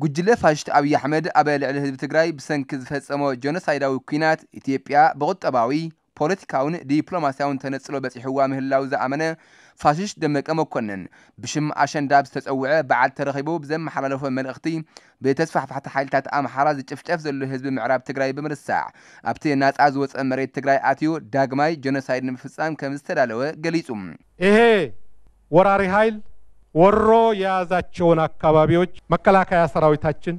ጉጅለ ፋሽስት ኣብይ ኣሕመድ ኣብ ልዕሊ ህዝቢ ትግራይ ብሰንኪ ዝፈጸሞ ጀኖሳይዳዊ ኲናት፣ ኢትዮጵያ ብቁጠባዊ፣ ፖለቲካውን ዲፕሎማስያውን ተነጽሎ በጺሕዋ ምህላው ዝኣመነ ፋሽስት ደመቀ መኮንን፣ ብሽም ኣሸንዳ ዝተጸውዐ በዓል ተረኺቡ ብዘመሓላለፎ መልእኽቲ፣ ብተስፋሕፋሕቲ ሓይልታት ኣምሓራ ዝጭፍጨፍ ዘሎ ህዝቢ ምዕራብ ትግራይ ብምርሳዕ፣ ኣብቲ ናጻ ዝወጸ መሬት ትግራይ ኣትዩ ዳግማይ ጀኖሳይድ ንምፍጻም ከም ዝተዳለወ ገሊጹ። ይሄ ወራሪ ኃይል ወሮ የያዛቸውን አካባቢዎች መከላከያ ሰራዊታችን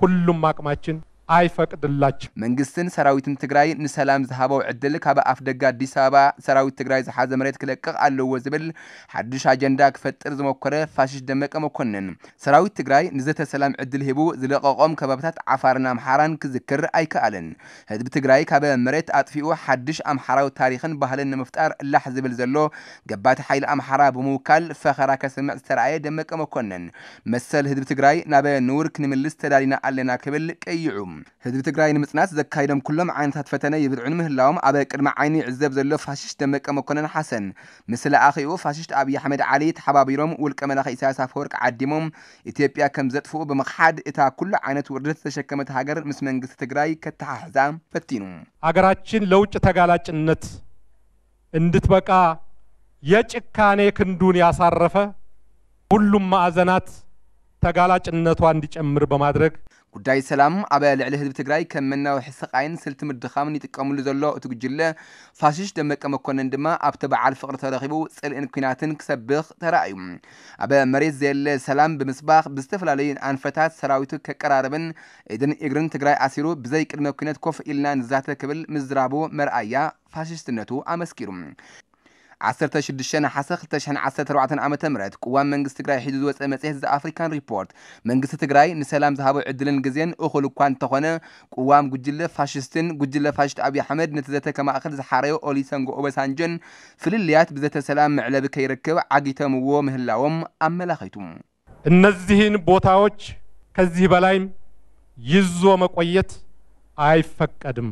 ሁሉም አቅማችን አይፈቅድላቸው። መንግስትን ሰራዊትን ትግራይ ንሰላም ዝሃበው ዕድል ካብ ኣፍ ደገ ኣዲስ ኣበባ ሰራዊት ትግራይ ዝሓዘ መሬት ክለቅቕ ኣለዎ ዝብል ሓድሽ ኣጀንዳ ክፈጥር ዝሞከረ ፋሽስት ደመቀ መኮንን፣ ሰራዊት ትግራይ ንዘተ ሰላም ዕድል ሂቡ ዝለቀቖም ከባብታት ዓፋርን ኣምሓራን ክዝክር ኣይከኣለን። ህዝቢ ትግራይ ካብ መሬት ኣጥፊኡ ሓድሽ ኣምሓራዊ ታሪኽን ባህልን ንምፍጣር ላሕ ዝብል ዘሎ ገባቲ ሓይሊ ኣምሓራ ብምውካል ፈኸራ ከስምዕ ዝተረኣየ ደመቀ መኮንን፣ መሰል ህዝቢ ትግራይ ናብ ንውር ክንምልስ ተዳሊና ኣለና ክብል ቀይዑ። ህዝቢ ትግራይ ንምጽናት ዘካይዶም ኩሎም ዓይነታት ፈተነ ይብርዕኑ ምህላዎም ኣብ ቅድሚ ዓይኑ ይዕዘብ ዘሎ ፋሽስት ደመቀ መኮንን ሓሰን፣ ምስ ለኣኺኡ ፋሽስት ኣብይ ኣሕመድ ዓሊ ተሓባቢሮም ውልቀ መላኺ ኢሳያስ ኣፈወርቅ ዓዲሞም ኢትዮጵያ ከም ዘጥፍኡ ብምኽሓድ፣ እታ ኩሉ ዓይነት ውርደት ዝተሸከመት ሃገር ምስ መንግስቲ ትግራይ ከተሓሕዛ ፈቲኑ። አገራችን ለውጭ ተጋላጭነት እንድትበቃ የጭካኔ ክንዱን ያሳረፈ ሁሉም ማዕዘናት ተጋላጭነቷ እንዲጨምር በማድረግ፣ ጉዳይ ሰላም ኣብ ልዕሊ ህዝቢ ትግራይ ከም መናውሒ ስቓይን ስልቲ ምድኻምን ይጥቀምሉ ዘሎ እቲ ጉጅለ ፋሽስት ደመቀ መኮንን ድማ ኣብቲ በዓል ፍቕሪ ተረኺቡ ጽልእን ኲናትን ክሰብኽ ተራእዩ። ኣብ መሬት ዘየለ ሰላም ብምስባኽ ብዝተፈላለዩ ኣንፈታት ሰራዊቱ ከቀራርብን ኢድን እግርን ትግራይ ኣሲሩ ብዘይ ቅድመ ኲነት ኮፍ ኢልና ንዛተ ክብል ምዝራቡ መርኣያ ፋሽስትነቱ ኣመስኪሩ። ዓሰርተ ሽዱሽተ ነሓሰ ክልተ ሽሕን ዓሰርተ ኣርባዕተን ዓመተ ምህረት ቅዋም መንግስቲ ትግራይ ሒዙ ዝወፀ መፅሄት ዘ ኣፍሪካን ሪፖርት መንግስቲ ትግራይ ንሰላም ዝሃቦ ዕድልን ግዜን እኹል እኳ እንተኾነ ቅዋም ጉጅለ ፋሽስትን ጉጅለ ፋሽስት ኣብይ ኣሕመድ ነቲ ዘተ ከማእኽል ዝሓረዮ ኦሊሰንጎ ኦበሳንጆን ፍልልያት ብዘተ ሰላም መዕለቢ ከይረክብ ዓጊተምዎ ምህላዎም ኣመላኺቱ። እነዚህን ቦታዎች ከዚህ በላይም ይዞ መቆየት አይፈቀድም።